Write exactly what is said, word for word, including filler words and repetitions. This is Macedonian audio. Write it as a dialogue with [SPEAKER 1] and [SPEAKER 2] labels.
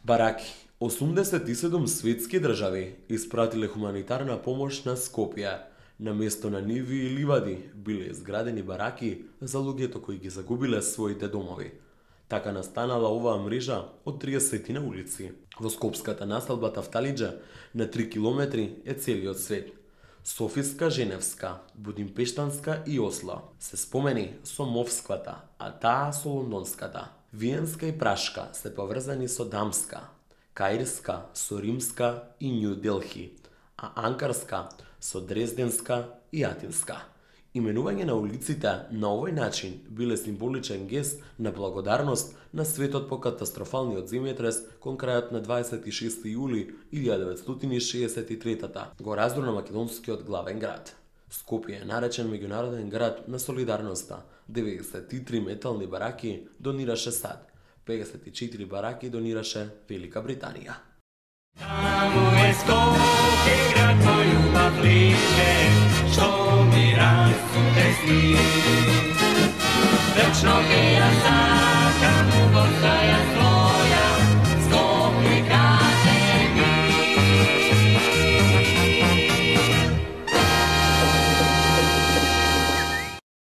[SPEAKER 1] Бараки. осумдесет и седум светски држави испратиле хуманитарна помош на Скопје. На место на ниви и ливади биле изградени бараки за луѓето кои ги загубиле своите домови. Така настанала оваа мрежа од триесет улици. Во скопската населба Тафталиџа на три километри е целиот свет. Софиска, Женевска, Будимпештанска и Осло се спомени со Мовсквата, а таа со Лондонската. Виенска и Прашка се поврзани со Дамска, Каирска со Римска и Нью Делхи, а Анкарска со Дрезденска и Атинска. Именување на улиците на овој начин биле символичен гест на благодарност на светот по катастрофалниот земјотрес кон крајот на дваесет и шести јули илјада деветстотини и шеесет и трета го раздруна македонскиот главен град. Скопје е наречен меѓународен град на солидарноста. деветдесет и три метални бараки донираше САД, педесет и четири бараки донираше Велика Британија.
[SPEAKER 2] Таму е Скопје, град мој љубав лише, што ми расуте сни. Вечно ќе ја